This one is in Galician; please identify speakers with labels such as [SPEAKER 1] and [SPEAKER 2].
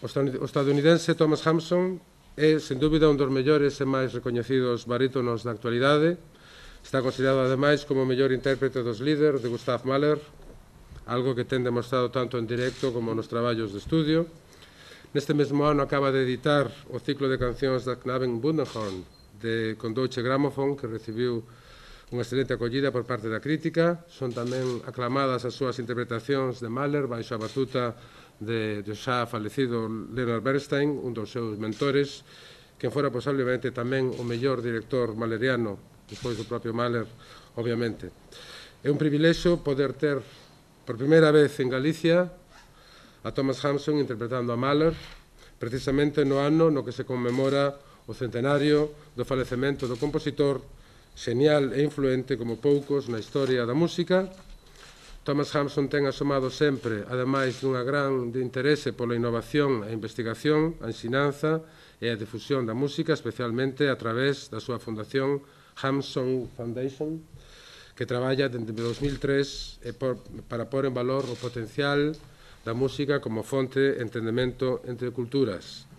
[SPEAKER 1] O estadounidense Thomas Hampson é, sen dúbida, un dos mellores e máis recoñecidos barítonos da actualidade. Está considerado, ademais, como o mellor intérprete dos Lieder de Gustav Mahler, algo que ten demostrado tanto en directo como nos traballos de estudio. Neste mesmo ano acaba de editar o ciclo de cancións da Knaben Wunderhorn con Deutsche Grammophon, que recibiu unha excelente acollida por parte da crítica. Son tamén aclamadas as súas interpretacións de Mahler baixo a batuta do xa falecido Leonard Bernstein, un dos seus mentores, que fora posiblemente tamén o mellor director mahleriano, despois do propio Mahler, obviamente. É un privilexio poder ter por primeira vez en Galicia a Thomas Hampson interpretando a Mahler, precisamente no ano no que se conmemora o centenario do falecemento do compositor, xenial e influente como poucos na historia da música. Thomas Hampson ten asomado sempre, ademais dunha gran interese pola innovación e investigación, a ensinanza e a difusión da música, especialmente a través da súa fundación Hampson Foundation, que traballa desde 2003 para pôr en valor o potencial da música como fonte de entendemento entre culturas.